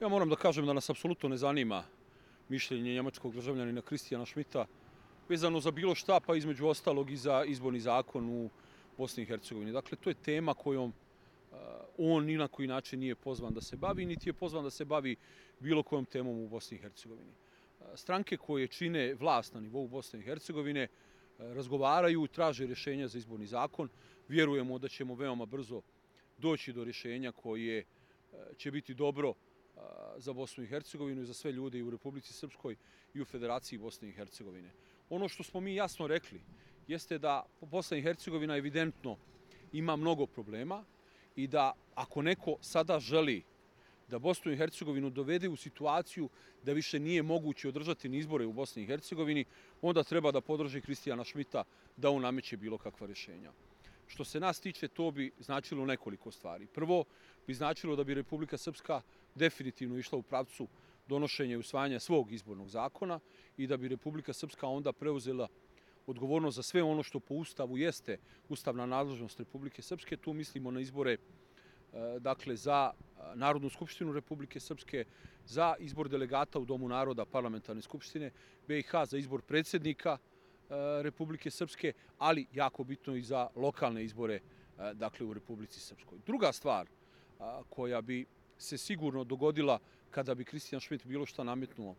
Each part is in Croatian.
Ja moram da kažem da nas apsolutno ne zanima mišljenje njemačkog državljanina Kristijana Schmidta vezano za bilo šta, pa između ostalog i za izborni zakon u Bosni i Hercegovini. Dakle, to je tema kojom on ni na koji način nije pozvan da se bavi, niti je pozvan da se bavi bilo kojom temom u Bosni i Hercegovini. Stranke koje čine vlast na nivou Bosne i Hercegovine razgovaraju, traže rješenja za izborni zakon. Vjerujemo da ćemo veoma brzo doći do rješenja koje će biti dobro za Bosnu i Hercegovinu i za sve ljude i u Republici Srpskoj i u Federaciji Bosne i Hercegovine. Ono što smo mi jasno rekli jeste da Bosna i Hercegovina evidentno ima mnogo problema i da ako neko sada želi da Bosnu i Hercegovinu dovede u situaciju da više nije moguće održati ni izbore u Bosni i Hercegovini, onda treba da podrži Kristijana Schmidta da on nameće bilo kakva rješenja. Što se nas tiče, to bi značilo nekoliko stvari. Prvo, bi značilo da bi Republika Srpska definitivno išla u pravcu donošenja i usvajanja svog izbornog zakona i da bi Republika Srpska onda preuzela odgovornost za sve ono što po Ustavu jeste ustavna nadležnost Republike Srpske. Tu mislimo na izbore dakle, za Narodnu skupštinu Republike Srpske, za izbor delegata u Domu naroda Parlamentarne skupštine BiH, za izbor predsjednika Republike Srpske, ali jako bitno i za lokalne izbore dakle, u Republici Srpskoj. Druga stvar koja bi se sigurno dogodila kada bi Kristijan Schmidt bilo šta nametnuo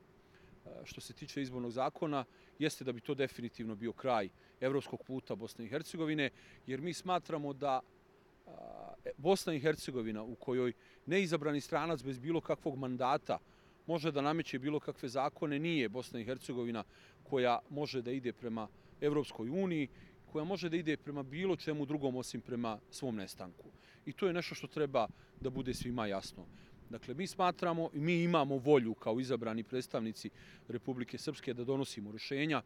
što se tiče izbornog zakona, jeste da bi to definitivno bio kraj evropskog puta Bosne i Hercegovine, jer mi smatramo da Bosna i Hercegovina u kojoj neizabrani stranac bez bilo kakvog mandata može da nameće bilo kakve zakone, nije Bosna i Hercegovina koja može da ide prema Evropskoj uniji, koja može da ide prema bilo čemu drugom osim prema svom nestanku. I to je nešto što treba da bude svima jasno. Dakle, mi smatramo i mi imamo volju kao izabrani predstavnici Republike Srpske da donosimo rješenja.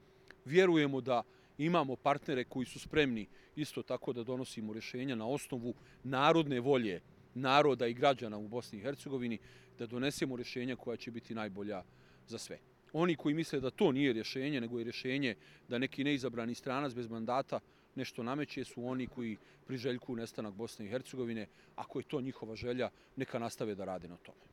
Vjerujemo da imamo partnere koji su spremni isto tako da donosimo rješenja na osnovu narodne volje naroda i građana u Bosni i Hercegovini, da donesemo rješenja koja će biti najbolja za sve. Oni koji misle da to nije rješenje, nego je rješenje da neki neizabrani stranac bez mandata nešto nameće, su oni koji priželjkuju nestanak Bosne i Hercegovine. Ako je to njihova želja, neka nastave da rade na tome.